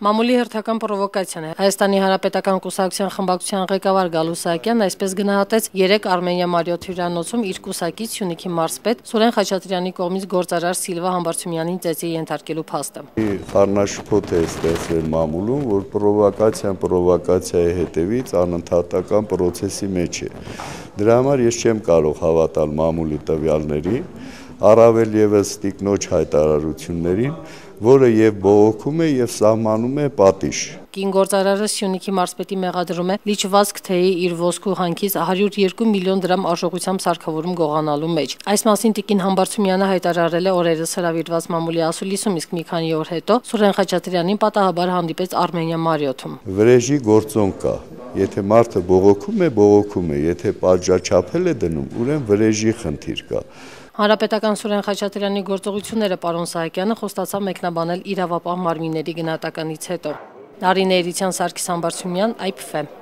Մամուլի հերթական պրովոկացիան է։ Հայաստանի Հանրապետական կուսակցության խմբակցության ղեկավար Գալու Սահակյանն այսպես գնահատեց 3 Արմենիա Մարիոթ հյուրանոցում իր կուսակից Սյունիքի մարզպետ Սուրեն Խաչատրյանի կողմից գործարար Սիլվա Համբարձումյանին ծեծի ենթարկելու փաստը։ Խառնաշփոթ է ստեղծվել մամուլում, որ պրովոկացիայի հետևից անընդհատական պրոցեսի մեջ է։ Դրա համար ես չեմ կարող հավատալ մամուլի տվյալներին, առավել ևս տիկնոջ հայտարարություններին, որը եւ բողոքում է եւ սահմանում է պատիժ։ Կին գործարարը Սյունիքի մարզպետի մեղադրում է լիճվածք թեյի իր ոսկու հանքից 102 միլիոն դրամ արժողությամբ սարքավորում գողանալու մեջ։ Այս մասին տիկին Համբարձումյանը հայտարարել է օրերս հրավիրված մամուլի ասուլիսում, իսկ մի քանի օր հետո Սուրեն Խաչատրյանին պատահաբար հանդիպեց Արմենիա Մարիոթում։ Վրեժի գործոն կա։ Եթե մարդը բողոքում է, եթե պատժաչափել է դնում, ուրեմն վրեժի խնդիր կա։ Հանրապետական Սուրեն Խաչատրյանի գործողությունները պարոն Սահակյանը խոստացավ մեկնաբանել իրավապահ մարմինների գնահատականից հետո։ Նարինե Էրիցյան, Սարգիս Համբարձումյան, IPF